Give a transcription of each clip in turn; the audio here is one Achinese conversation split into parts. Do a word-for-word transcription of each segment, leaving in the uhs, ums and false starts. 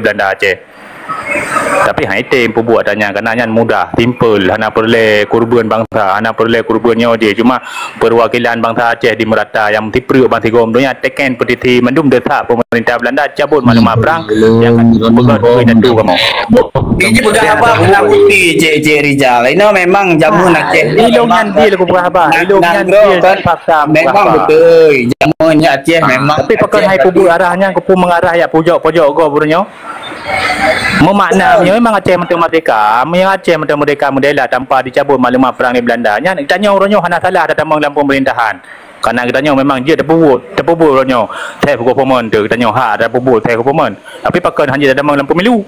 Beulanda Aceh. Tapi hai tem peubuet ata nyan, karena nyan mudah, simple, hana peureulée kurban bansa, hana peureulée kurban nyoe jih. Cuma perwakilan bansa Aceh di meurata nyang sipreuk bansigom donya teken petisi mandum desya pemerintah Beulanda cabot maklumat perang nyang ka peugah keu indatu kamoe. Iji peugah haba peunak bukti, Cek, Cek Rijal. Inoe memang jameun Aceh. Ilong nyan dia lagu peugah haba. Ilong nyan dia fakta memang betul. Jameun Aceh memang. Tapi pakon hai peubuet arah nyan keupeue mengarah jak pojok-pojok gob uroe nyoe? Meumakna meunyoe memang Aceh meuteumerdeka, meunyoe Aceh meuteumerdeka meudela tanpa dicabot maklumat perang di Beulanda, nyan geutanyoe uroe nyoe hana salah tatamong lam pemerintahan. Karena geutanyoe memang jeuet tapeubuet, tapeubuet uroe nyoe. Thèe government teuh geutanyoe hak tapeubuet thèe government. Tapi pakon hana jeuet tatamong lam pemilu?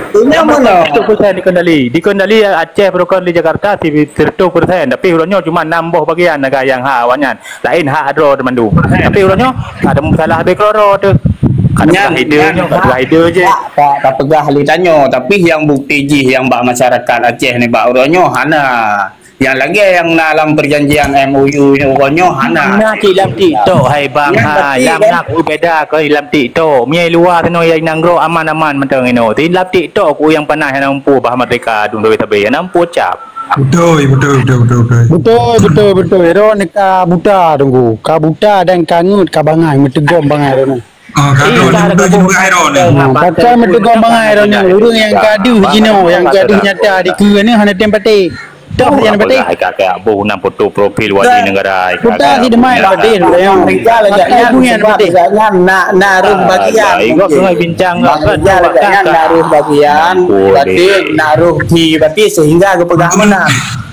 Seratus persen dikendali. Dikendali Aceh pakon di Jakarta seratus persen. Tapi uroe nyoe cuma enam boh bagian nyang hak awaknyan. Laén hak droe teumandum. Tapi uroe nyoe ka teumeusalah habéh keudroe teuh. Ka teumeusalah ide nyoe, ka teumeusalah ide je. Tak, tak, tak peugah lé tanyoe, tapi nyang bukti jih nyang bak masyarakat Aceh nibak uroe nyoe hana. Nyang lagée nyang na lam perjanjian M O U nyoe uroe nyoe hana. Na cit lam TikTok hai bang hai. Lam na ku beda keu lam TikTok. Meunyoe luwa sinoe nyang nanggroe aman-aman mantong inoe. Tapi lam TikTok ku nyang panas nyang na umpoh bah merdeka dum sabe-sabe nyang na umpoh cap. Betul, betul, betul, betul, betul. Betul, betul, betul. Ero ni ka buta tunggu. Ka buta dan ka ngut ka bangai meuteugom bangai ero ni. Ah, ka droe, betul juga ero ni. Ha, pasal meuteugom bangai ero ni. Ureueng nyang gaduh jinoe, nyang gaduh nyata di keue ni hana tem patéh. Toh nyang patéh. Kakak boh nam foto profil wali negara. Buta si demai patéh. Pakai buyan patéh. Nak, nak roh bagian. Bincang. Nak roh bagian. Berarti nak roh di berarti sehingga geupeugah menang.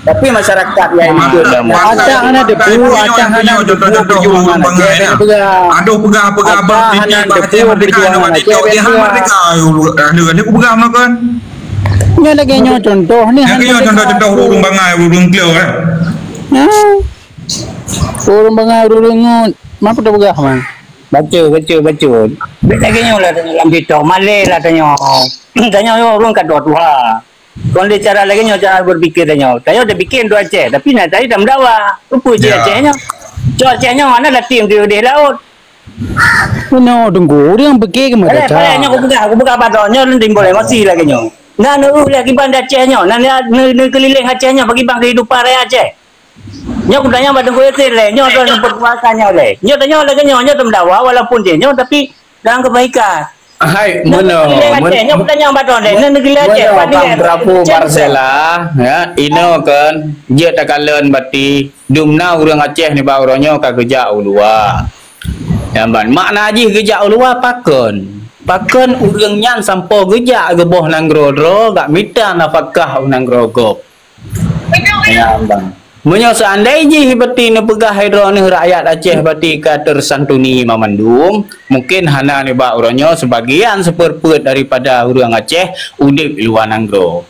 Tapi masyarakat nyang ikut. Ata hana debu, ata hana debu perjuangan Aceh, hana peugah. Adoh peugah-peugah ata hana debu perjuangan Aceh, hana peugah. Ada, ada peugah melakukan. Nyoe lagée nyoe contoh ni. Lagée nyoe contoh-contoh ureueng bangai, ureueng kleu eh. Nah. Ureueng bangai, ureueng ngut. Mapa tapeugah man? Baca, baca, baca. Lagée nyoe lah lam TikTok, malée lah tanyoe. Tanyoe ureueng ka tuha-tuha. Kon lé cara lagée nyoe cara berpikir tanyoe. Tanyoe tapikir untuk Aceh, tapi na tadi tameudawa. Rupa cit Aceh nyoe. Cok Aceh nyoe mana latih di udeh laut. Meunoe teungku, ureueng pike keu meudaca. Padahai nyoe kupeugah, kupeugah padahai nyoe lôn timbul emosi lagée nyoe. Na neuuh lé kiban di Aceh nyoe, na neukeulileng Aceh nyoe pakriban kehidupan rakyat Aceh. Nyoe kutanyong bak Teungku Yasir lé, nyoe droe nyang berkuasa nyoe lé. Nyoe tanyoe lagée nyoe, nyoe tameudawa walaupun jih nyoe tapi dalam kebaikan. Hai, meunoe, meunoe, meunoe, Bang Prabu Parsela, ya, inoe kan, jeuet takalon bati, dumna ureueng Aceh nibak uroe nyoe ka geujak u luwa. Nyan ban, makna jih geujak u luwa pakon? Pakon ureueng nyan sampoe geujak geuboh nanggroe droe, gak mita nafakah u nanggroe gob. Meunyoe seandai jih beuti neupeugah droeneuh rakyat Aceh beuti ka tersantuni mamandum, mungkin hana nibak uroe nyoe sebagian seperpeuet daripada ureueng Aceh udeb luwa nanggroe.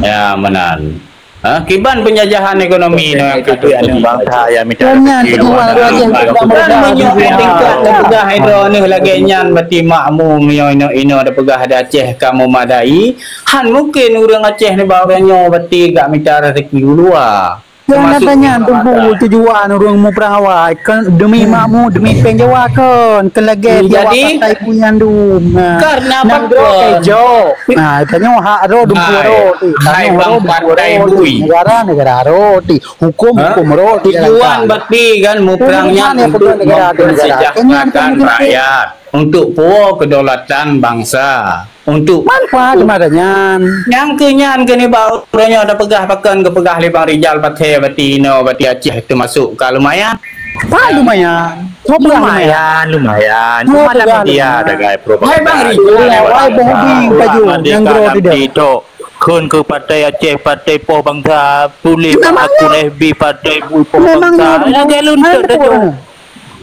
Ya, meunan. Ha, kiban penjajahan ekonomi nyoe ka teujadi. Bangsa nyang mita. Nyan tujuan ureueng Aceh. Dan meunyoe tingkat neupeugah droeneuh lagée nyan beuti makmum nyoe inoe-inoe neupeugah di Aceh ka memadai, Han mungken ureueng Aceh nibak uroe nyoe beuti gak mita rezeki u luwa. Nyang na tanya teungku tujuan ureueng muprang awai kon demi makmu, demi péng Jawa kon, kon lagée Jawa jadi, pakai punyan dum. Nah, karena nanggroe kejo. Nah, tanyoe hak ro dum ro ti. Hai bang partai bui. Negara, negara ro ti. Hukum, hukum ro ti. Tujuan beuti kan muprang nyan untuk mempersejahterakan rakyat. Untuk puwoe kedaulatan bansa, untuk manfaat mata nyan. Nyang keu nyan keu nibak uroe nyoe tapeugah pakon geupeugah lé Bang Rijal pathé bati inoe bati Aceh teumasuk ka lumayan. Ka lumayan. Lumayan, lumayan. Cuma dah media tagai propaganda. Hai Bang Rijal, wai Bang Udi baju nanggroe tidak. Kheun keu Partai Aceh, Partai Poh Bangsa, tuléh bak akun F B Partai Bui Poh Bangsa. Lagée lôn teuh.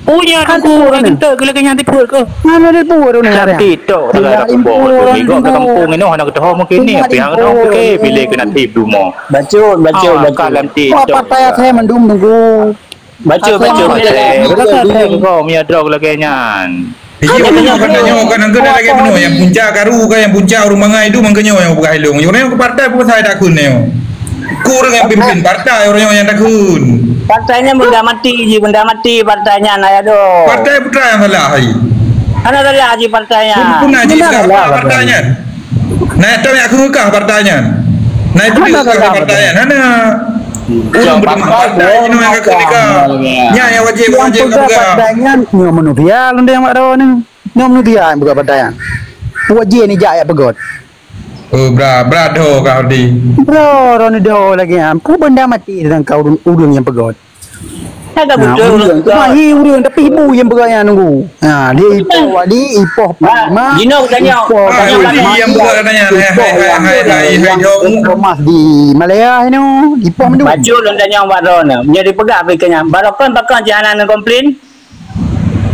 Punya kan tu orang kentut ke lagi nyang tipu ke? Mana dia pun orang ni. Lam TikTok dah ada pun orang ni. Kau kampung ni hana ketahu mungkin ni. Pihak orang ke pilih kena tip dulu. Bacut, bacut, bacut. Lam TikTok. Apa payah saya mendung tunggu. Bacut, bacut, bacut. Kau punya drog lagi nyan. Iya, kan nyoe kan angkeu lagée meunoe nyang punca karu kan nyang punca ureuëng bangai tu mangkeu nyoe nyang peugah ilong. Ureuëng nyang ke partai peue sai takheun nyoe. Ku ureuëng nyang pimpin partai ureuëng nyoe nyang takheun. Partai nyan benda mati ji, benda mati partai nyan ayah tu. Partai putra nyang salah hai. Hana galak jih partai nyan. Pun, pun na jih. Hana galak partai nyan. Na itu yang aku kekah partai nyan. Na itu yang aku kekah partai nyan. Hana. Urang beriman partai nyan yang aku kekah. Nyan yang wajib, wajib peugah partai nyan. Nyoe manusia lôn yang mak ni. Nyoe manusia yang peugah partai nyan. Wajib ni jak ya peugah. Oh, bra, bra do kah di. Bra, ron do lagi. Ku benda mati dengan kau urang yang peugah. Nah, ureueng, cuma hi ureueng, tapi ibu nyang peugah nyan nunggu. Ha, dia ipoh wali, ipoh panglima, jinoe tanya, ipoh tanya wali nyang peugah nyan, hai, hai, hai, hai, hai, hai, ipoh mas di Malaya inoe, ipoh mandum. Bacut lôn tanya bak droeneuh. Meunyoe dipeugah pih keu nyan, barokon pakon cit hana neukomplain?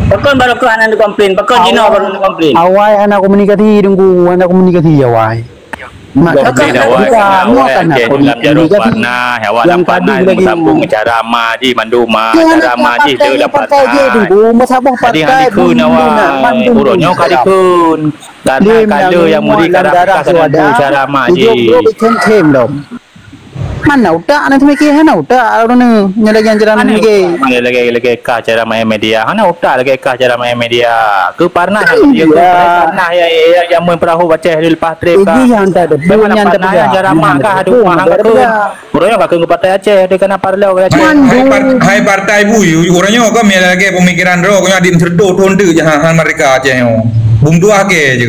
Pakon barokon hana neukomplain? Pakon jinoe baru neukomplain? Awai hana komunikasi, nunggu, hana komunikasi awai. Maka awai, awai Aceh dalam jaroe Parnas, awak lam Parnas meusambung cara ma jih mandum ma, cara ma jih tu lam Parnas. Jadi hana dikheun awai, uroe nyoe ka dikheun. Karena kala nyang meuri ka rap ka cara ma jih. Mana utak na teumikir, hana utak ureueng nyoe lagèe cara teumikir. Lagèe-lagèe ka cara main media, hana utak lagèe ka cara main media. Keu Parnas, ya, keu Parnas ya, ya, ya, jameun peurahô Aceh dileupah trép ka. Itu yang tak ada. Bagaimana Parnas yang cara mah kah, aduh, mah kah tu. Uroe nyoe ka keu partai Aceh, dia kena parlo Aceh. Hai, hai, par-, hai partai bui, uroe nyoe kau mila lagèe pemikiran droe, kau nyoe adik meuseureutôh thôn deuk jahan merdeka Aceh nyoe. Bum tuah ke je.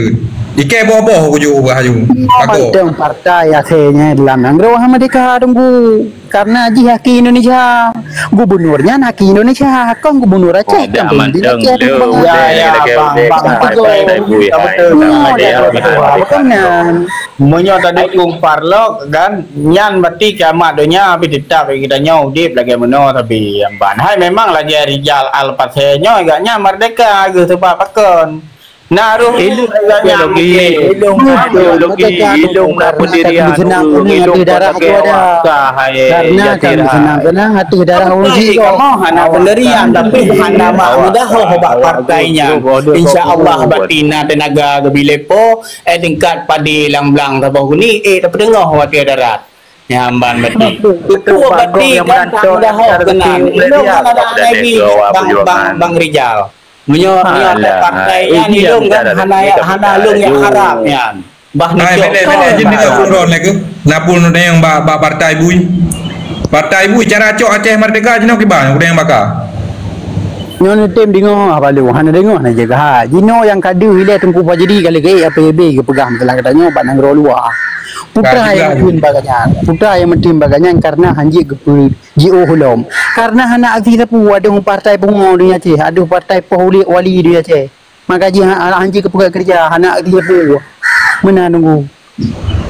Ikei boh-boh ku ju ubah ju. Aku. Mantong partai akhirnya dalam nanggroe merdeka tunggu. Karena jih aki Indonesia, gubernurnya aki Indonesia, kon gubernur Aceh, kan pemimpin Aceh. Ya, ya, bang, bang, betul. Betul. Meunyoe tadukung parlok kan, nyan berarti kiamat donya, tapi tetap kita nyoe udip lagèe meunoe, tapi nyang ban hai memang lagèe Rijal Al-Pasé nyoe, agak nyan merdeka geuh sebab pakon. Na roh ilung ideologi, ilung ideologi, ilung na pendirian, ilung darah tu ada. Karena kami senang kenang hati darah orang sih. Kamu hana pendirian, tapi hana mak mudah lah bak partai nyan. Insya Allah, batina tenaga gebilepo, eh, tingkat padi lang blang saboh guni, eh, tak pedengoh watèe darat. Nyamban bati. Itu bati kan tak mudah kenang. Ilung kan ada lagi bang, bang, bang Rijal. Meunyoe, meunyoe ada partai nyan, ilung kan hana, hana lôn nyang harap nyan. Bah neucok. Hai, bèk lé, bèk lé, jeuet deungö ureueng lé keuh. Na pun ureueng nyang bak, bak partai bui. Partai bui cara cok Aceh Merdeka jinoe kiban ureueng nyang baka. Nyoe neutem deungö ah balu, hana deungö na jaga ha. Jinoe nyang ka deuh ilèe Teungku Fajri ka lagèe P B B geupeugah masalah geutanyoe bak nanggroe luwa. Putra nyang meutem bak gobnyan. Putra nyang meutem bak gobnyan karena hanjeuet geupeu Jiôh lom. Karena hana aksi sapeue, adoh partai pungo donya Aceh, adoh partai poh ulik wali donya Aceh. Maka jih ha-, ha-, hanjeuet keu peugah keureuja, hana aksi sapeue. Meunan nunggu.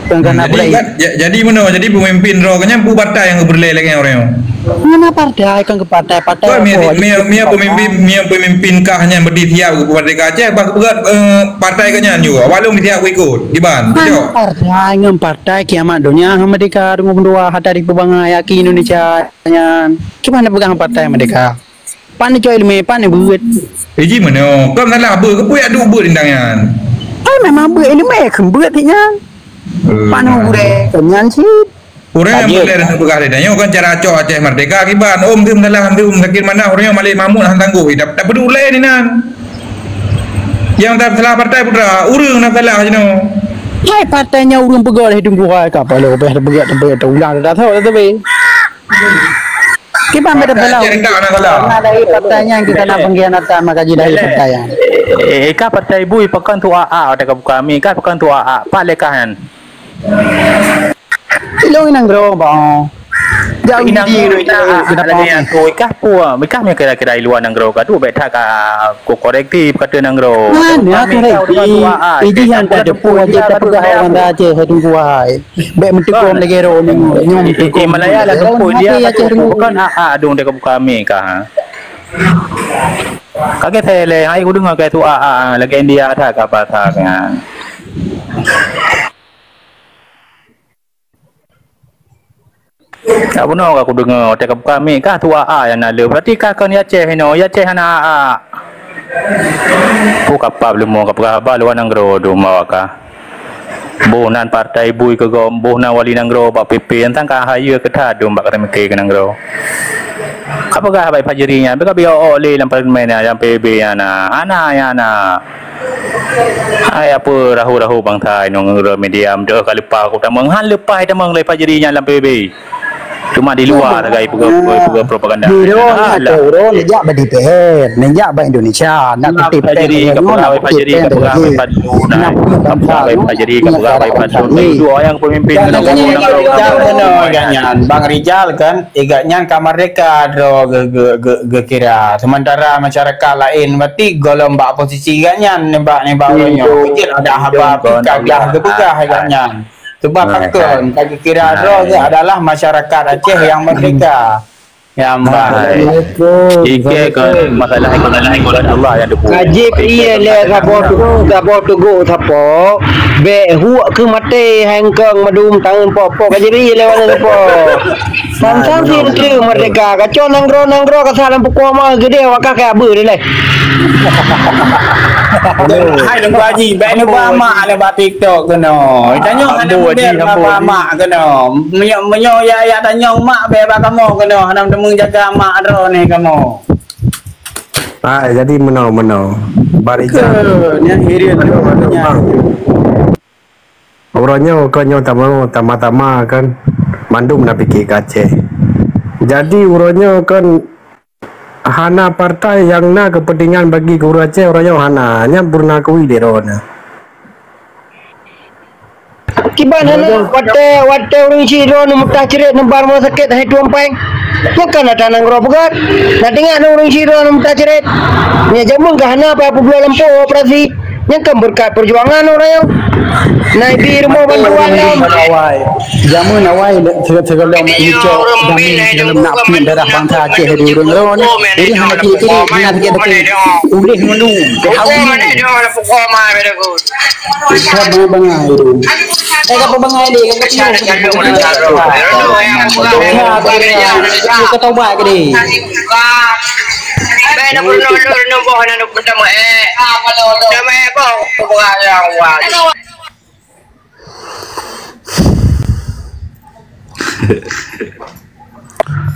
Kan, kan, jadi, kan, ja-, jadi meunoe, jadi pemimpin droe nyan peue partai nyang geupeureulèe lagèe nyan ureueng nyoe? Hana partai, kan keu partai, partai. Kon, mi-, mi-, mi-, pemimpin, mi-, pemimpin kah nyan berarti siap keu partai ka Aceh, bah keu, eh, partai ka nyan juga. Awak lôn siap keu ikut, kiban, betul? Partai ngon partai kiamat donya, merdeka, deungon meudoa, hata dipeubangai, aki Indonesia. Nyan, kiban na peugah partai merdeka? Pan icok ileumèe, pan ibeuet. Eh, ji meunoe, kon salah beuet, keupeue yak duek beuet indang nyan? Ai, memang beuet ileumèe, kheun beuet nyan. Eh, pan gurèe, nyan cit. Ureueng nyang beulèe dan peugah lé, nyoe kon cara cok Aceh Merdeka kiban. Om teuh salah, om teuh sakét manah, ureueng nyoe Malik Mahmud han tanggôh, eh, tak, tak peuduek lé dinan. Nyang salah partai putra, ureueng na salah jinoe. Hai, partai nyan ureueng peugah lé Teungku hai, ka paloe bèh teupeugah, teupeugah, teuulang dah tho, teupeugah. Kiban beda pula. Partai nyan kita nak pengkhianatan, maka jidai partai nyan. Eh, eh, ka partai bui pakon tu a a, watèe ka buka mi, ka pakon tu a a, pat lé kah nyan. Ilong inang gero ba. Jauh inang gero ina, ada yang tu ikah pun, ikah punya kira-kira di luar nanggroe ka tu, bèk that ka ku korektif kata nanggroe. Mana korektif? Iji yang tak ada pun aja tak peugah orang dah aja, hai tunggu hai. Bèk meuteukon lagèe roh nyoe, nyoe meuteukon. Eh, Malaya lah tempoh dia, bukan a a dong dia buka mi kah, ha? Kagèe saya leh, hai ku deungoe kah tu a a, lagèe India that ka bahasa kan. Tak bunoe ka kudeungoe, watèe ka buka mic kah tu a a nyang na le. Berarti kah kon Aceh inoe, Aceh hana a a. Peue kapab leumo ka peugah haba luwa nanggroe dum awak kah. Boh nan partai bui keu gob, boh nan wali nanggroe bak P P, teuntang ka hayeue keu that dum bak ka teumiké keu nanggroe. Ka peugah Baik Fajri nyan, beuka biôk lé lam parlemen nyan, lam P B B nyan na. Hana, nyan na. Hai, apa rahu-rahu bansa inong ureueng media, meudoh ka leupah ku tamong. Han leupah tamong lé Fajri nyan lam P B B. Cuma di luar sagai peugah, peugah, peugah propaganda. Di luar. Alah. Ureueng neujak bak D P R, neujak bak Indonesia, nak kutip Fajri, ka peugah Fajri, ka peugah Fajri, ka peugah Fajri, dua orang pemimpin. Bang Rijal kan, igat nyan ka merdeka droe ge-, ge-, ge-, geukira. Sementara masyarakat lain berarti golom bak posisi igat nyan nibak, nibak uroe nyoe. Jeuet ada haba pih ka glah geupeugah igat nyan. Sebab pakon ka geukira droe geuh adalah masyarakat Aceh yang merdeka. Nyang baik. Assalamualaikum. Ike kon masalah ekonomi kon Allah nyang teupeue. Ka jipeuie lé saboh tu-, saboh teugok sapo, bèk huek keu maté hai eungkong mandum tangeun pok-pok ka jipeuie lé wana sapo. Sang-sang si merdeka, kacau nanggroe-nanggroe ka salam pukon ma geudeh awak ka kaya beu dilèe. Hai Teungku Haji, bèk neuba mak lé bak TikTok keunoe. Tanyong hana model neuba mak keunoe. Meunyoe, meunyoe ya, ya tanyong mak bèk bak kamoe keunoe, hana teumeujaga mak droeneuh kamoe. Ah, jadi meunoe, meunoe. Barisan. Ke, nyan hireuen nyan. Uroe nyoe kon nyoe tama-, tama-tama kan mandum na pike keu Aceh. Jadi uroe nyoe kan hana partai nyang na keupeuntengan bagi keu ureueng Aceh, uroe nyoe hana. Nyan peureuna akui lé droeneuh. Kiban hana, watèe, watèe ureueng sidroe neumeutah cret neubar rumoh sakét hai tueng péng. Nyan kan atra nanggroe peugöt. Na teuingat ureueng sidroe neumeutah cret. Nyan jameun ka hana payah peubloe lampôh operasi. Nyan kan beureukat peujuangan ureueng nyoe. Na ibi rumoh bantuan lom. Awai. Jameun awai, se-, sigohlom icok damé sigohlom nak piep darah bansa Aceh di ureueng droe. Jadi hana kiri-kiri, hana sakét-sakét. Ulih meunung, keuhai meunung. Ka bangai-bangai tu. Eh, ka bangai deh, ka bangai. Ka tobat ke deh.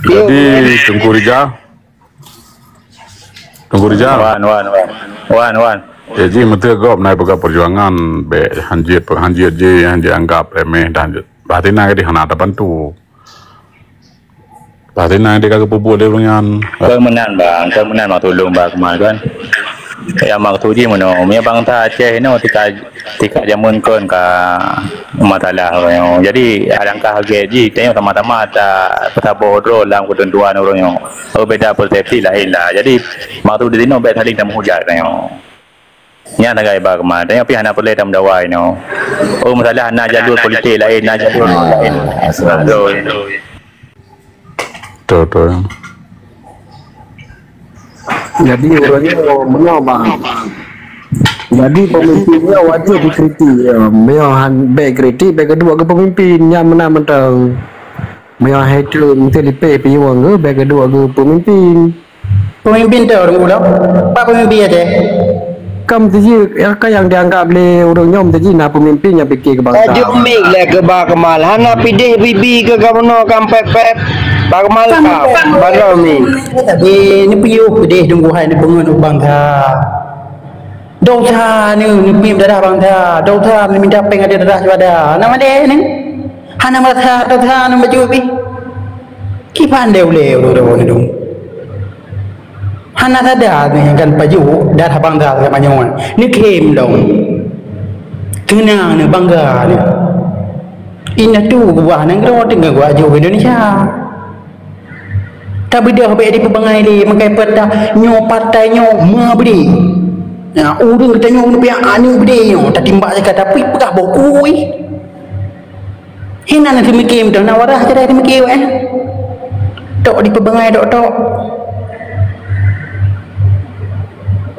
Jadi, Teungku Rijal, Teungku Rijal. Wan, wan, wan. Wan, wan. Ya, jih meuteugop na peugah perjuangan, bèk hanjeuet, hanjeuet jih, hanjeuet anggap remeh dan bah tina di hana tabantu. Bah tina di ka geupeubuet lé ureueng nyan. Kon meunan, Bang, kon meunan mak tulông, Bang, keumae kan. Ya, maksud jih meunoe, meunyoe bansa Aceh inoe tika Tika jameun kon ka masalah uroe nyoe. Jadi, alangkah gèt jih tanyoe sama-sama tapeusaboh droe lam keuteuntuan uroe nyoe. Oh, beda persepsi laén lah. Jadi, maksud di sinoe bèk saling tameuhujat tanyoe. Nyan sagai ba keumah. Tanyoe pih hana peureulèe tameudawa inoe. Oh, masalah na jalur politik laén, na jalur laén. Betul, betul. Jadi, uroe nyoe meunoe, Bang. Jadi, pemimpin nyoe wajéb dikritik. Ya, meunyoe han bèk kritik, bèk geuduek keu pemimpin. Nyan meunan mantong. Meunyoe hai tu meuteulipéh pinyueng geuh, bèk geuduek keu pemimpin. Pemimpin tu ureueng ulo. Pak pemimpin aja. Kam teuji, ya, ka nyang dianggap lé ureueng nyoe teuji na pemimpin nyang pike keu bansa. Ka jeuet mik lé keu Bah Kemal. Hana pideh bibi keu gubernur kam pet-pet. Bah Kemal ka, bandar mi. Tapi ni piôh pideh dunggu hai ni bangun bansa. Dosa ni, ni pim darah bansa. Dosa ni minta peng ada darah juada. Nama deh ni? Hana merasa dosa ni baju pi. Kiban deh uleh ureueng ni dong. Hana tada neuh kan pajoh darah bangga sama nyoe. Neukhém lom. Teunang neuh, bangga neuh. Indatu geuba nanggroe teungoh geuajoh Indonesia. Tabeudôh bèk dipeubangai lé, meukai peurintah nyoe partai nyoe meubri. Nah, ureueng geutanyoe neupiak aneuk beudé nyoe, tatimbak zakat, tapi peugah boh kui. Hina na teumiki meudoh na wadah jadai teumiki weh. Tok dipeubangai tok-tok.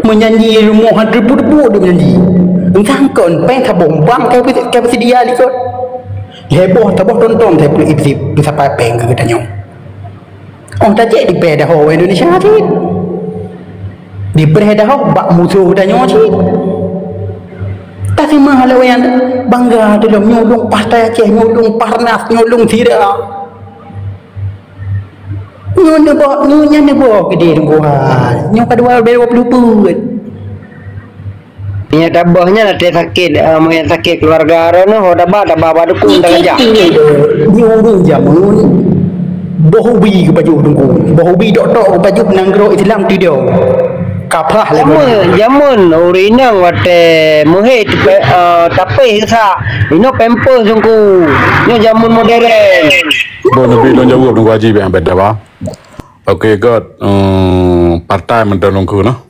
Meujanji rumoh han teupeu-teupeu deuh janji. Entah kon péng saboh bang kai peusi-, kai peusidia likot. Lhèe boh saboh tontong sai peuleupie peusapat péng keu geutanyoe. Oh, tajak dipèh daho Indonesia cit. Dipèh daho bak musoh geutanyoe cit. Taseumah lé nyan bangga tulông nyoe lôn partai Aceh, nyoe lôn Parnas, nyoe lôn sira. Nyoe neuboh, nyoe nyan neuboh keudeh Teungku hai. Nyoe ka dua, dua puluh peuet. Nyang tabah nyan até sakét, ah, meuhé sakét keuluwarga droeneuh, ho tabah, tabah bak dukun tajak. Nyoe ureueng jameun boh ubi geupajoh Teungku. Boh ubi tok-tok geupajoh nanggroe Islam tidong. Kaprah lé. Jameun, jameun ureueng inong watèe meuhé, eh, tapéh geusak. Inoe pampers Teungku. Nyoe jameun modern. Bon, tapi lôn jaweueb Teungku Haji bèk, bèk daba. Oke, göt, eh, partai mantong Teungku noh.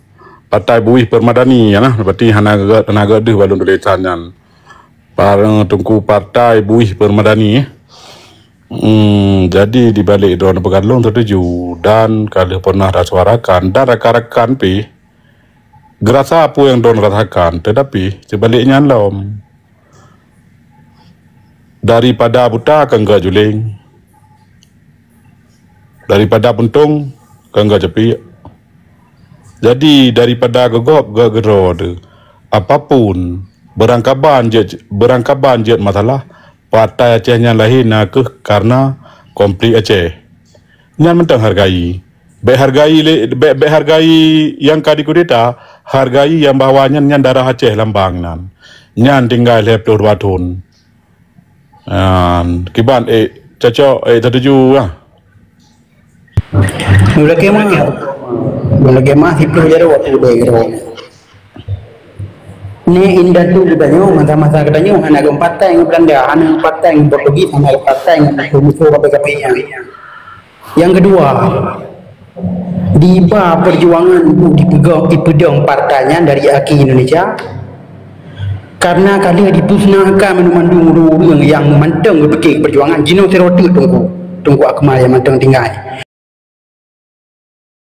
Partai Buih Permadani nyan lah. Berarti hana göt, hana göt deuh bak lôn tulésan nyan. Par-, Teungku Partai Buih Permadani, eh. Hmm, jadi di balik droeneuh peugah lôn setuju dan ka lheueh pernah tasuarakan dan rakan-rakan pih geurasa peue nyang droeneuh rasakan, tetapi seubalik nyan lom. Daripada buta keu göt juléng, daripada puntông keu göt capiek. Jadi, daripada geugob göt keudroe teuh, apapun, beurangkaban jeuet, beurangkaban jeuet masalah, partai Aceh nyan lahé na kheueh kareuna konflik Aceh. Nyan mantong hargai. Bèk hargai lé, bèk, bèk hargai nyang ka dikudeta, hargai nyang bahwa nyan, nyan darah Aceh lambang nyan. Nyan tinggai lhèe ploh dua thôn. Nyan, kiban, eh, cocok, eh, tatuju lah. Meulakèe mah, meulakèe mah siploh jaroe watèe udép keudroe. Nèk indatu geutanyoe, masa-masa geutanyoe hana geumpatai ngon Beulanda, hana geumpatai ngon Portugis, hana geumpatai ngon musoh-musoh kafé-kafé nyan. Nyang keudua, diba peujuangan bu dipeugöt, dipeudong partai nyan dari akhé Indonesia, kareuna ka lheueh dipeuseunakan banmandum ureueng-ureueng nyang mantong geupike peujuangan jinoe sidroe teuk Teungku, Teungku Akmal nyang mantong tinggai.